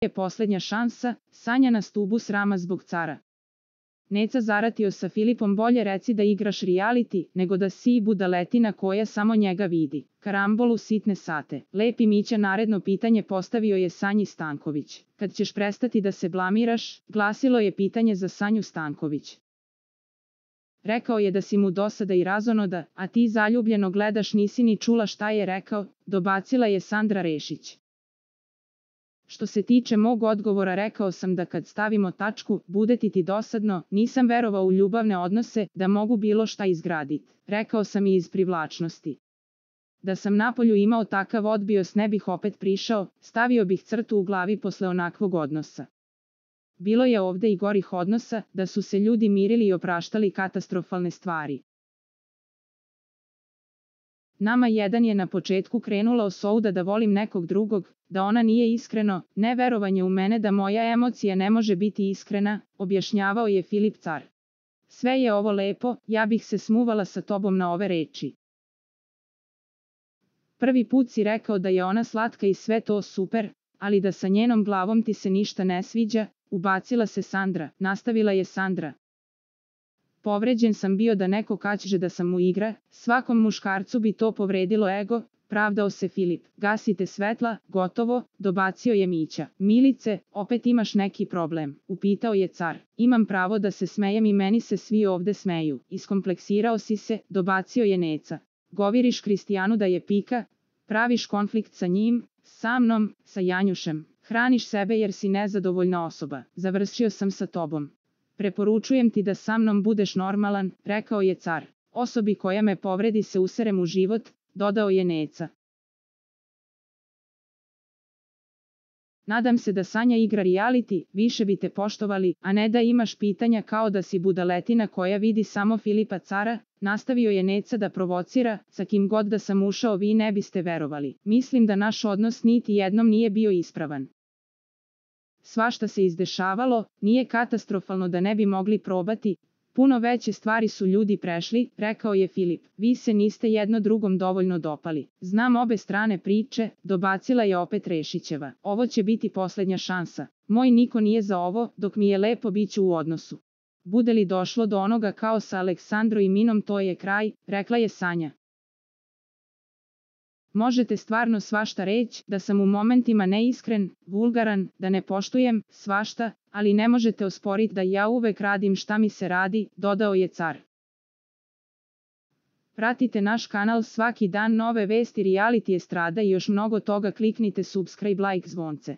je poslednja šansa, Sanja na stubu srama zbog cara. Neca zaratio sa Filipom, bolje reci da igraš reality, nego da si budaletina koja samo njega vidi. Karambol u sitne sate. Lepi Mića naredno pitanje postavio je Sanji Stanković. Kad ćeš prestati da se blamiraš, glasilo je pitanje za Sanju Stanković. Rekao je da si mu dosada i razonoda, a ti zaljubljeno gledaš, nisi ni čula šta je rekao, dobacila je Sandra Rešić. Što se tiče mog odgovora, rekao sam da kad stavimo tačku, bude ti dosadno, nisam verovao u ljubavne odnose, da mogu bilo šta izgraditi. Rekao sam i iz privlačnosti. Da sam napolju imao takav odbios ne bih opet prišao, stavio bih crtu u glavi posle onakvog odnosa. Bilo je ovde i gorih odnosa, da su se ljudi mirili i opraštali katastrofalne stvari. Nama jedan je na početku krenula osouda da volim nekog drugog, da ona nije iskreno, neverovanje u mene da moja emocija ne može biti iskrena, objašnjavao je Filip Car. Sve je ovo lepo, ja bih se smuvala sa tobom na ove reči. Prvi put si rekao da je ona slatka i sve to super, ali da sa njenom glavom ti se ništa ne sviđa, ubacila se Sandra, nastavila je Sandra. Povređen sam bio da neko kaže da sam mu igra, svakom muškarcu bi to povredilo ego, pravdao se Filip. Gasite svetla, gotovo, dobacio je Mića. Milice, opet imaš neki problem, upitao je Car. Imam pravo da se smejem i meni se svi ovde smeju. Iskompleksirao si se, dobacio je Neca. Govoriš Kristijanu da je pika, praviš konflikt sa njim, sa mnom, sa Janjušem. Hraniš sebe jer si nezadovoljna osoba. Završio sam sa tobom. Preporučujem ti da sa mnom budeš normalan, rekao je Car. Osobi koja me povredi se userem u život, dodao je Neca. Nadam se da Sanja igra reality, više bi te poštovali, a ne da imaš pitanja kao da si budaletina koja vidi samo Filipa Cara, nastavio je Neca da provocira, sa kim god da sam ušao vi ne biste verovali. Mislim da naš odnos niti jednom nije bio ispravan. Svašta se izdešavalo, nije katastrofalno da ne bi mogli probati, puno veće stvari su ljudi prešli, rekao je Filip. Vi se niste jedno drugom dovoljno dopali. Znam obe strane priče, dobacila je opet Rešićeva. Ovo će biti poslednja šansa. Moj niko nije za ovo, dok mi je lepo biću u odnosu. Bude li došlo do onoga kao sa Aleksandrom i Minom, to je kraj, rekla je Sanja. Možete stvarno svašta reći, da sam u momentima neiskren, vulgaran, da ne poštujem, svašta, ali ne možete osporiti da ja uvek radim šta mi se radi, dodao je Car. Pratite naš kanal svaki dan, nove vesti, reality, estrada i još mnogo toga, kliknite subscribe, like, zvonce.